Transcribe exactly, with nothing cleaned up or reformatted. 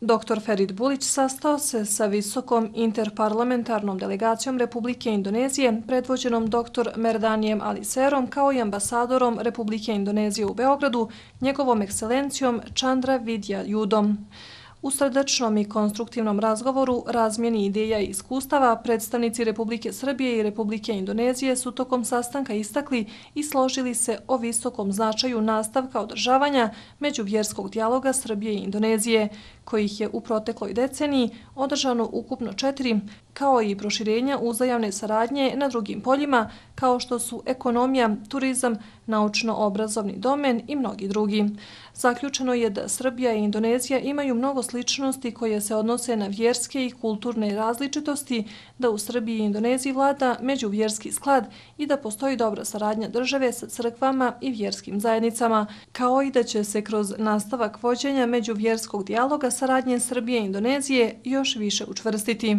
doktor Ferit Bulić sastao se sa visokom interparlamentarnom delegacijom Republike Indonezije, predvođenom doktor Merdanijem Aliserom, kao i ambasadorom Republike Indonezije u Beogradu, njegovom ekscelencijom Chandra Vidya Yudom. U srdačnom i konstruktivnom razgovoru, razmjeni ideja i iskustava, predstavnici Republike Srbije i Republike Indonezije su tokom sastanka istakli i složili se o visokom značaju nastavka održavanja međuvjerskog dijaloga Srbije i Indonezije, kojih je u protekloj deceniji održano ukupno četiri, kao i proširenja uzajamne saradnje na drugim poljima, kao što su ekonomija, turizam, naučno-obrazovni domen i mnogi drugi. Zaključeno je da Srbija i Indonezija imaju mnogo sličnosti koje se odnose na vjerske i kulturne različitosti, da u Srbiji i Indoneziji vlada međuvjerski sklad i da postoji dobra saradnja države sa crkvama i vjerskim zajednicama, kao i da će se kroz nastavak vođenja međuvjerskog dijaloga saradnje Srbije i Indonezije još više učvrstiti.